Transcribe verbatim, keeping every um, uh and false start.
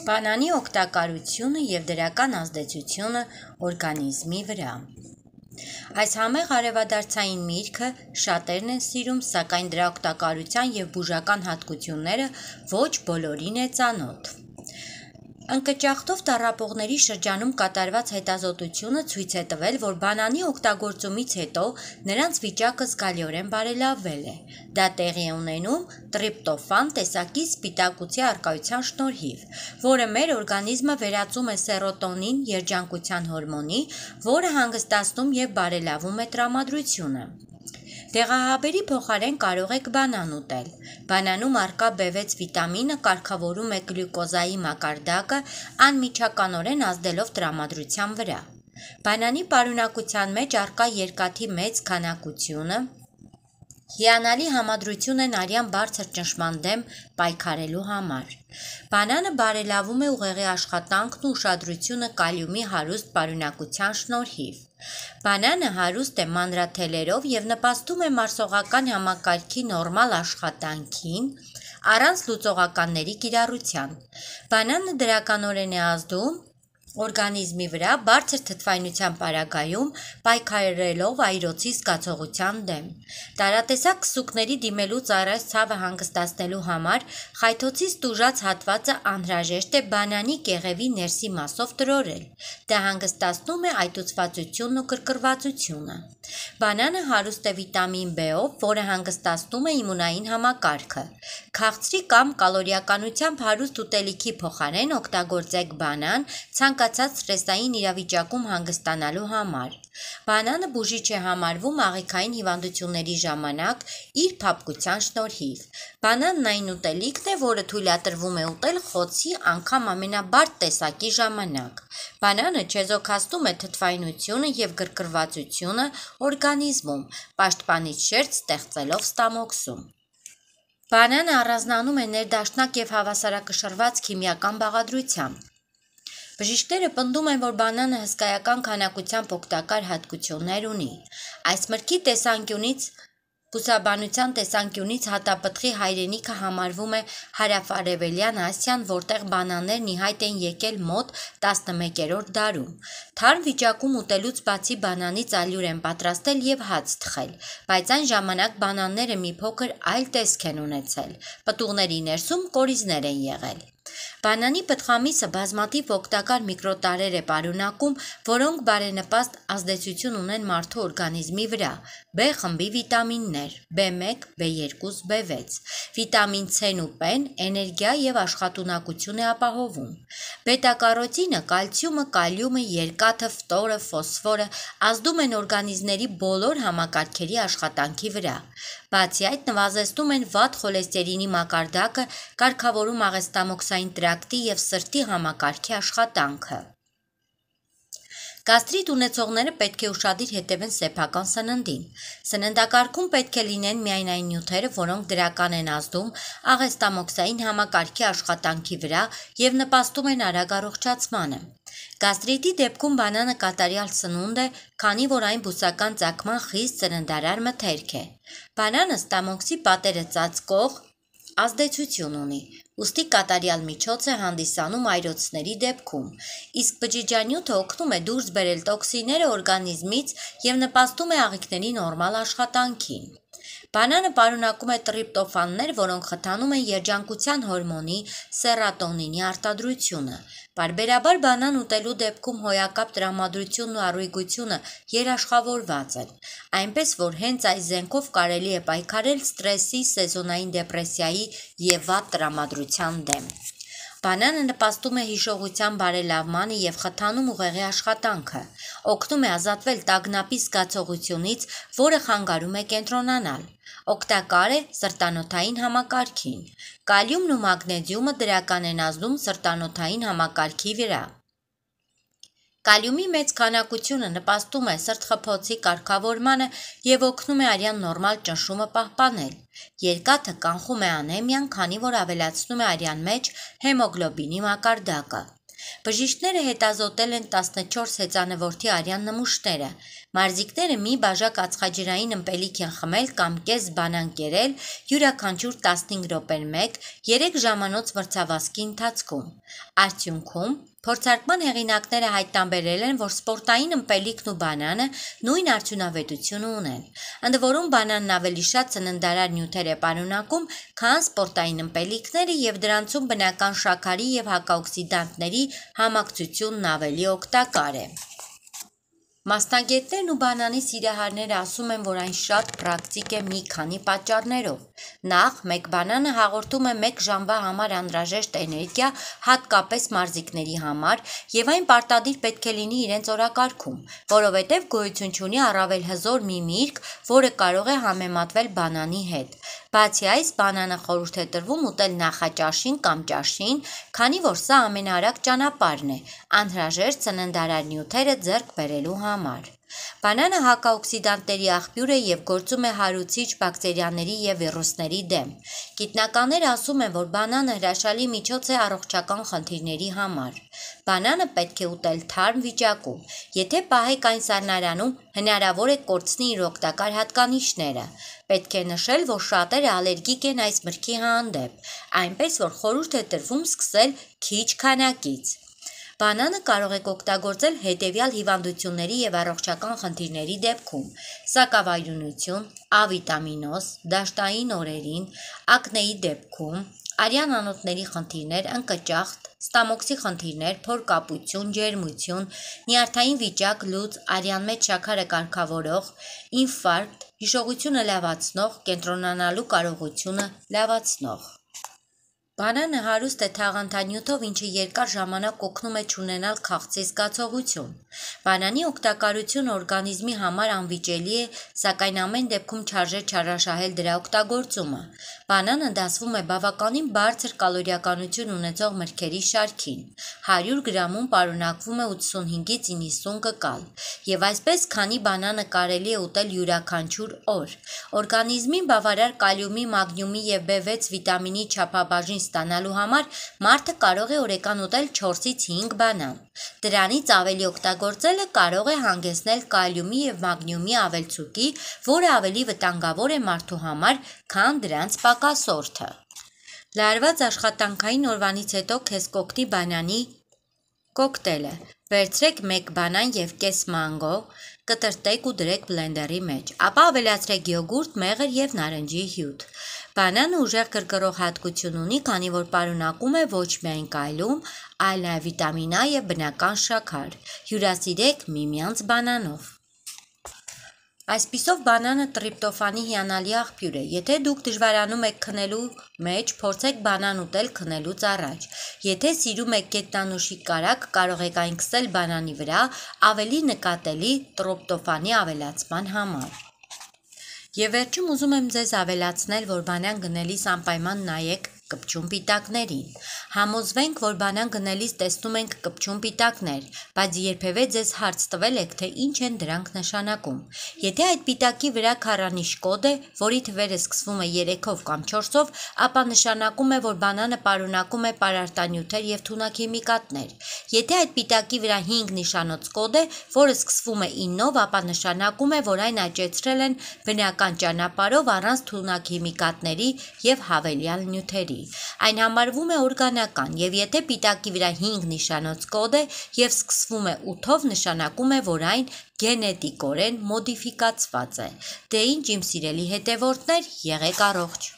Բանանի օգտակարությունը և դրական ազդեցությունը օրգանիզմի վրա։ Այս համեղ արևադարձային միրգը շատերն են սիրում, սակայն դրա օգտակարության և բուժական հատկությունները ոչ բոլորին է ծանոթ։ Ընկճախտով տառապողների շրջանում կատարված հետազոտությունը ցույց է տվել, որ բանանի օգտագործումից հետո նրանց վիճակը զգալիորեն բարելավվել է։ Դա տեղի է ունենում տրիպտոֆան տեսակի սպիտակուցի առկայության շնորհիվ, որը մեր օրգանիզմը վերածում է սերոտոնին երջանկության հորմոնի, որը հանգստացնում և բարելավում է տրամադրությունը։ Դեղահաբերի փոխարեն կարող եք բանան ուտել։ Բանանում առկա բի վեց վիտամինը կարգավորում է գլյուկոզայի մակարդակը, անմիջականորեն ազդելով տրամադրության վրա։ Բանանի պարունակության մեջ առկա երկաթի մեծ քանակությունը հիանալի համադրություն են արյան բարձր ճնշման դեմ պայքարելու համար։ Բանանը բարելավում է ուղեղի աշխատանքն ու ուշադրությունը կալիումի հարուստ պարունակության շնորհիվ։ Բանանը հարուստ է մանրաթելերով և նպաստում է մարսողական համակարգի նորմալ աշխատանքին առանց լուծողականների կիրառության։ Բանանը դրականորեն է ազդում օրգանիզմի վրա բարձր թթվայնության պարագայում պայքարելով այրոցի զգացողության դեմ։ Տարատեսակ քսուկների դիմելու ծառայ ցավը հանգստացնելու համար խայթոցից տուժած հատվածը անհրաժեշտ է բանանի կեղևի ներսի մասով տրորել։ Դա հանգստացնում է այտուցվածությունն ու կրկրվածությունը։ Բանանը հարուստ է վիտամին B-ով, որը հանգստացնում է իմունային համակարգը։ Քաղցրի կամ կալորիականությամբ հարուստ ուտելիքի փոխարեն օգտագործեք բանան ցանկացած սթրեսային իրավիճակում հանգստանալու համար։ Բանանը բուժիչ է համարվում աղիքային հիվանդությունների ժամանակ իր փափկության շնորհիվ։ Բանանն այն ուտելիքն է, որը թույլատրվում է ուտել խոցի անգամ ամենաբարդ տեսակի ժամանակ։ Բանանը չեզոքացնում է թթվայնությունը և գրգռվածությունը օրգանիզմում, պաշտպանիչ շերտ ստեղծելով ստամոքսում։ Բանանը առանձնանում է ներդաշնակ և հավասարակշռված քիմիական բաղադրությամբ։ Բժիշկները պնդում են, որ բանանը հսկայական քանակությամբ օգտակար հատկություններ ունի։ Այս մրգի տեսանկյունից բուսաբանության տեսանկյունից հատապտղի հայրենիքը համարվում է հարավարևելյան Ասիան, որտեղ բանաններն ի հայտ են եկել մոտ տասնմեկերորդ դարում։ Թարմ վիճակում ուտելուց բացի բանանից ալյուր են պատրաստել և հաց թխել, բայց այն ժամանակ բանանները մի փոքր այլ տեսք են ունեցել։ Պտուղների ներսում կորիզներ են եղել։ Բանանի պտղամիսը բազմաթիվ օգտակար միկրոտարրեր է պարունակում, որոնք բարենպաստ ազդեցություն ունեն մարդու օրգանիզմի վրա։ B խմբի վիտամիններ՝ B մեկ, B երկու, B վեց։ Վիտամին C-ն ու P-ն էներգիա և աշխատունակություն է ապահովում։ Բետա-կարոտինը, կալցիումը, կալիումը, երկաթը, ֆտորը, ֆոսֆորը ազդում են օրգանիզմների բոլոր համակարգերի աշխատանքի վրա։ Բացի այդ, նվազեցնում են վատ խոլեստերինի մակարդակը, կարգավորում աղեստամոքսային տրակտի և սրտի համակարգի աշխատանքը։ Գաստրիտ ունեցողները պետք է ուշադիր հետևեն սեփական սննդին։ Սննդակարգում պետք է լինեն միայն այն նյութերը, որոնք դրական են ազդում աղեստամոքսային համակարգի աշխատանքի վրա և նպաստում են արագ առողջացմանը։ Գաստրիտի դեպքում բանանը կատարյալ սնունդ է, քանի որ այն բուսական ծագման խիստ սննդարար մթերք է։ Բանանը ստամոքսի պատերը ծածկող ազդեցություն ունի, ուստի կատարյալ միջոց է հանդիսանում այրոցների դեպքում, իսկ բջիջանյութը օգնում է դուրս բերել տոքսինները օրգանիզմից և նպաստում է աղիքների նորմալ աշխատանքին։ Բանանը պարունակում է տրիպտոֆաններ, որոնք խթանում են երջանկության հորմոնի սերոտոնինի արտադրությունը։ Պարբերաբար բանան ուտելու դեպքում հոյակապ տրամադրությունն ու առույգությունը երաշխավորված են, այնպես որ հենց այս զենքով կարելի է պայքարել սթրեսի, սեզոնային դեպրեսիայի և վատ տրամադրության դեմ։ Բանանը նպաստում է հիշողության բարելավմանը և խթանում ուղեղի աշխատանքը, օգնում է ազատվել տագնապի զգացողությունից, որը խանգարում է կենտրոնանալ։ Օգտակար է սրտանոթային համակարգին։ Կալիումն ու մագնեզիումը դրական են ազդում սրտանոթային համակարգի վրա։ Կալիումի մեծ քանակությունը նպաստում է սրտխփոցի կարգավորմանը և օգնում է արյան նորմալ ճնշումը պահպանել։ Երկաթը կանխում է անեմիան, քանի որ ավելացնում է արյան մեջ հեմոգլոբինի մակարդակը։ Բժիշկները հետազոտել են տասնչորս հեծանվորդի արյան նմուշները։ Մարզիկները մի բաժակ ածխաջրային ըմպելիք են խմել կամ կես բանան կերել յուրաքանչյուր տասնհինգ րոպեն մեկ երեք ժամանոց մրցավազքի ընթացքում։ Արդյունքում փորձարկման հեղինակները հայտնաբերել են, որ սպորտային ըմպելիքն ու բանանը նույն արդյունավետություն ունեն։ Ընդ որում բանանն ավելի շատ ծննդարար նյութեր է պարունակում, քան սպորտային ըմպելիքները և դրանցում բնական շաքարի և հակաօքսիդանտների համակցությունն ավելի օգտակար է։ Մասնագետներն ու բանանի սիրահարները ասում են, որ այն շատ պրակտիկ է մի քանի պատճառներով։ Նախ, մեկ բանանը հաղորդում է մեկ ժամվա համար անհրաժեշտ էներգիա, հատկապես մարզիկների համար, և այն պարտադիր պետք է լինի իրենց օրակարգում, որովհետև գոյություն չունի առավել հզոր մի միրգ, որը կարող է համեմատվել բանանի հետ։ Բացի այս, բանանը խորհուրդ է տրվում ուտել նախաճաշին կամ ճաշին, քանի որ սա ամենաարագ ճանապարհն է անհրաժեշտ ծննդարար նյութերը ձեռք բերելու համար։ Բանանը հակաօքսիդանտների աղբյուր է և գործում է հարուցիչ բակտերիաների և վիրուսների դեմ։ Գիտնականները ասում են, որ բանանը հրաշալի միջոց է առողջական խնդիրների համար։ Բանանը պետք է ուտել թարմ վիճակում։ Եթե պահեք այն սառնարանում, հնարավոր է կորցնի իր օգտակար հատկանիշները։ Պետք է նշել, որ շատերը ալերգիկ են այս մրգի հանդեպ, այնպես որ խորհուրդ է տրվում սկսել քիչ քանակից։ Բանանը կարող եք օգտագործել հետևյալ հիվանդությունների և առողջական խնդիրների դեպքում՝ սակավարյունություն, Ա վիտամինոզ, դաշտային օրերին, ակնեի դեպքում, արյան անոթների խնդիրներ, ընկճախտ, ստամոքսի խնդիրներ, փորկապություն, ջերմություն, նյարդային վիճակ, լուծ, արյան մեջ շաքարը կարգավորող, ինֆարկտ, հիշողությունը լավացնող, կենտրոնանալու կարողությունը լավացնող։ Բանանը հարուստ է թաղանթանյութով, ինչը երկար ժամանակ օգնում է չունենալ քաղցի զգացողություն։ Բանանի օգտակարությունը օրգանիզմի համար անվիճելի է, սակայն ամեն դեպքում չարժե չարաշահել դրա օգտագործումը։ Բանանը դասվում է բավականին բարձր կալորիականություն ունեցող մրգերի շարքին։ հարյուր գրամում պարունակվում է ութսունհինգից իննսուն կկալ։ Եվ այսպես, քանի բանանը կարելի է ուտել յուրաքանչյուր օր։ Օրգանիզմին բավարար կալիումի, մագնիումի և B վեց վիտամինի չափաբաժին ստանալու համար մարդը կարող է օրեկան ուտել չորսից հինգ բանան։ Դրանից ավելի օգտագործելը կարող է հանգեցնել կալիումի և մագնիումի ավելցուկի, որը ավելի վտանգավոր է մարդու համար, քան դրանց պակասորդը։ Լարված աշխատանքային օրվանից հետո քեզ կօգնի բանանի կոկտեյլը։ Վերցրեք մեկ բանան և կես մանգո, կտրտեք ու դրեք բլենդերի մեջ, ապա ավելացրեք յոգուրտ, մեղր և նարնջի հյութ։ Բանանը ուժեղ գրգռող հատկություն ունի, քանի որ պարունակում է ոչ միայն կալիում, այլ նաև վիտամին Ա և բնական շաքար։ Հյուրասիրեք միմյանց բանանով։ Այսպիսով բանանը տրիպտոֆանի հիանալի աղբյուր է։ Եթե դուք դժվարանում եք քնելու մեջ, փորձեք բանան ուտել քնելուց առաջ։ Եթե սիրում եք գետնանուշի կարագ, կարող եք այն քսել բանանի վրա ավելի նկատելի տրիպտոֆանի ավելացման համար։ Եվ վերջում ուզում եմ ձեզ ավելացնել, որ բանան գնելիս անպայման նայեք կպչուն պիտակներին։ Համոզվենք, որ բանան գնելիս տեսնում ենք կպչուն պիտակներ, բայց երբևէ ձեզ հարց տվել եք, թե ինչ են դրանք նշանակում։ Եթե այդ պիտակի վրա քառանիշ կոդ է, որի թվերը սկսվում է երեքով կամ չորսով, ապա նշանակում է, որ բանանը պարունակում է պարարտանյութեր և թունաքիմիկատներ։ Եթե այդ պիտակի վրա հինգ նիշանոց կոդ է, որը սկսվում է իննով, ապա նշանակում է, որ այն աճեցրել են բնական ճանապարհով առանց թունաքիմիկատների և հավելյալ նյութերի։ Այն համարվում է օրգանական, և եթե պիտակի վրա հինգ նիշանոց կոդ է և սկսվում է ութով, նշանակում է, որ այն գենետիկորեն մոդիֆիկացված է։ Դե ինչ իմ սիրելի հետևորդներ, եղեք առողջ։